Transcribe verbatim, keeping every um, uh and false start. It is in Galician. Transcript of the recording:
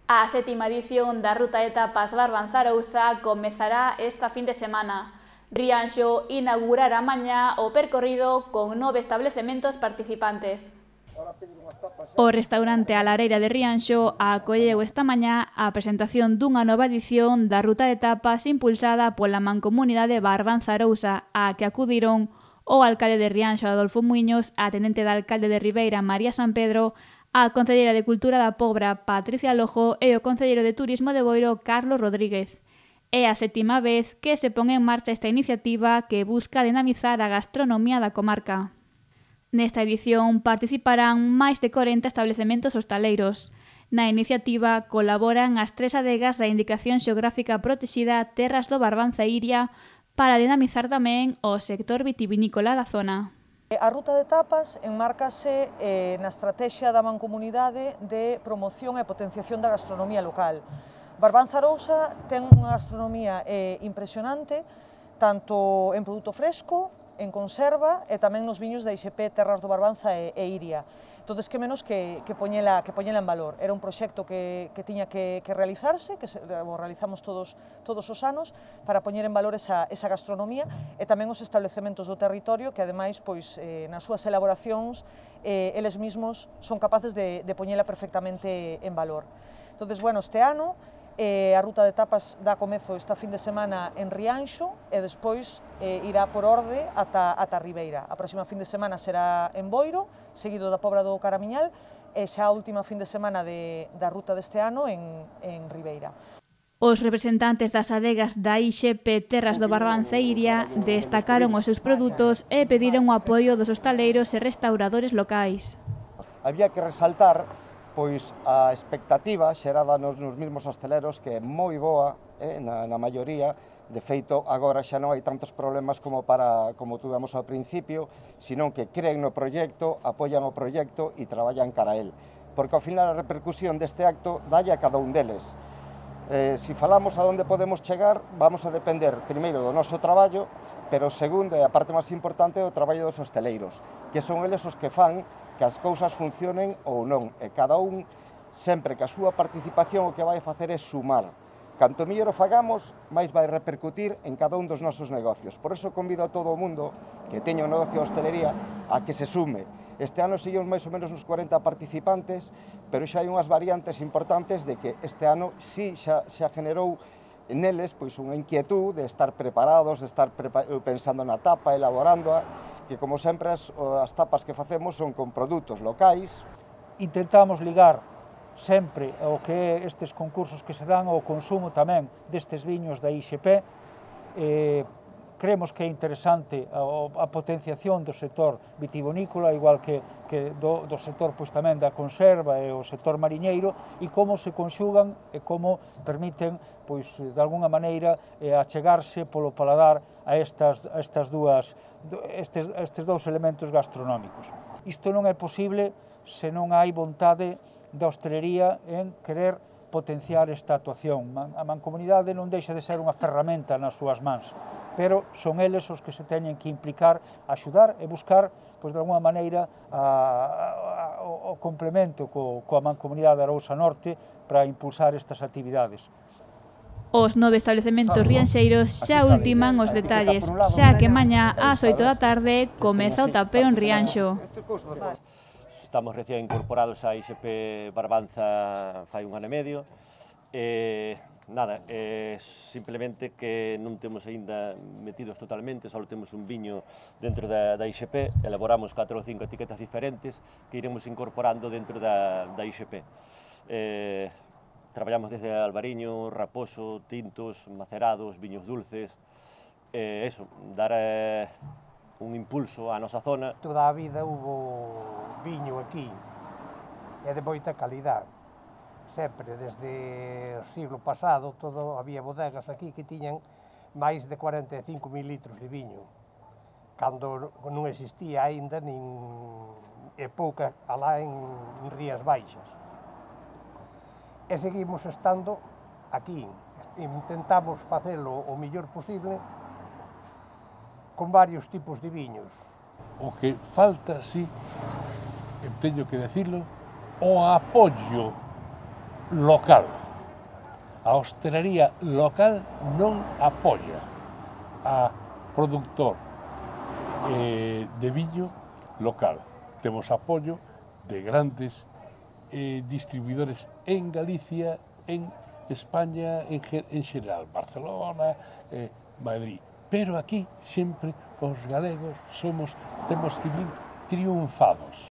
A sétima edición da Ruta de Tapas Barbanza-Arousa comezará esta fin de semana. Rianxo inaugurará mañá o percorrido con nove establecementos participantes. O restaurante A Lareira de Rianxo acolleu esta mañá a presentación dunha nova edición da Ruta de Tapas impulsada pola Mancomunidade Barbanza-Arousa, a que acudiron o alcalde de Rianxo, Adolfo Muiños, a tenente de alcalde de Ribeira, María San Pedro, a concelleira de Cultura da Pobra, Patricia Lojo, e o concelleiro de Turismo de Boiro, Carlos Rodríguez. É a sétima vez que se pon en marcha esta iniciativa que busca dinamizar a gastronomía da comarca. Nesta edición participarán máis de corenta establecementos hostaleiros. Na iniciativa colaboran as tres adegas da Indicación Xeográfica Protexida Terras do Barbanza e Iria para dinamizar tamén o sector vitivinícola da zona. A Ruta de Tapas enmárcase eh, na estrategia da Mancomunidade de promoción e potenciación da gastronomía local. Barbanza-Arousa ten unha gastronomía eh, impresionante, tanto en produto fresco, en conserva e tamén nos viños da I X P Terras do Barbanza e, e Iria. Entón, que menos que, que, poñela, que poñela en valor. Era un proxecto que, que tiña que, que realizarse, que se, o realizamos todos, todos os anos, para poñer en valor esa, esa gastronomía e tamén os establecementos do territorio que, ademais, pois, eh, nas súas elaboracións, eh, eles mesmos son capaces de, de poñela perfectamente en valor. Entón, bueno, este ano, Eh, a Ruta de Tapas dá comezo esta fin de semana en Rianxo e despois eh, irá por orde ata, ata Ribeira. A próxima fin de semana será en Boiro, seguido da Pobra do Caramiñal, e xa a última fin de semana de, da ruta deste ano en, en Ribeira. Os representantes das adegas da I X P Terras do Barbanza e Iria destacaron os seus produtos e pediron o apoio dos hostaleiros e restauradores locais. Había que resaltar pois a expectativa xerada nos, nos mesmos hosteleros, que é moi boa, eh, na, na maioría. De feito, agora xa non hai tantos problemas como para como tuvemos ao principio, senón que creen no proxecto, apoian o proxecto e traballan cara a él. Porque ao final a repercusión deste acto dalle a cada un deles. Eh, si falamos a onde podemos chegar, vamos a depender primeiro do noso traballo, pero segundo, e a parte máis importante, é o traballo dos hosteleiros, que son eles os que fan que as cousas funcionen ou non, e cada un, sempre que a súa participación o que vai facer é sumar. Canto mellor o fagamos, máis vai repercutir en cada un dos nosos negocios. Por iso convido a todo o mundo que teña un negocio de hostelería a que se sume. Este ano seguimos máis ou menos uns corenta participantes, pero xa hai unhas variantes importantes de que este ano sí xa, xa generou neles pois unha inquietud de estar preparados, de estar prepa pensando na tapa, elaborándoa, que como sempre as, as tapas que facemos son con produtos locais. Intentamos ligar sempre o que é estes concursos que se dan ao consumo tamén destes viños da I X P. Eh, creemos que é interesante a, a potenciación do sector vitivinícola, igual que, que do, do sector pois, tamén da conserva e o sector mariñeiro, e como se conxugan e como permiten, pois, de alguna maneira, eh, achegarse polo paladar a estas, a estas dúas, estes, estes dous elementos gastronómicos. Isto non é posible se non hai vontade da hostelería en querer potenciar esta actuación. A Mancomunidade non deixa de ser unha ferramenta nas súas mans, pero son eles os que se teñen que implicar, axudar e buscar, pois, de alguna maneira, a, a, o complemento co, coa Mancomunidade Arousa Norte para impulsar estas actividades. Os nove establecementos rianxeiros xa ultiman os detalles, xa que mañá ás oito da tarde comeza o tapeo en Rianxo. Estamos recién incorporados a I X P Barbanza fai un ano e medio. Eh, nada, eh, simplemente que non temos aínda metidos totalmente, só temos un viño dentro da, da I X P, elaboramos catro ou cinco etiquetas diferentes que iremos incorporando dentro da, da I X P. Eh, traballamos desde albariño, raposo, tintos, macerados, viños dulces, eh, eso, dar eh, un impulso á nosa zona. Toda a vida hubo viño aquí, e de moita calidad. Sempre, desde o siglo pasado, todo, había bodegas aquí que tiñan máis de cuarenta e cinco mil litros de viño, cando non existía aínda nin e pouca alá en, en Rías Baixas. E seguimos estando aquí, intentamos facelo o mellor posible con varios tipos de viños. O que falta, sí, teño que decirlo, o apoio local. A hostelería local non apoia a produtor eh, de viño local. Temos apoio de grandes eh, distribuidores en Galicia, en España, en, en xeral, Barcelona, eh, Madrid. Pero aquí sempre os galegos somos, temos que vir triunfados.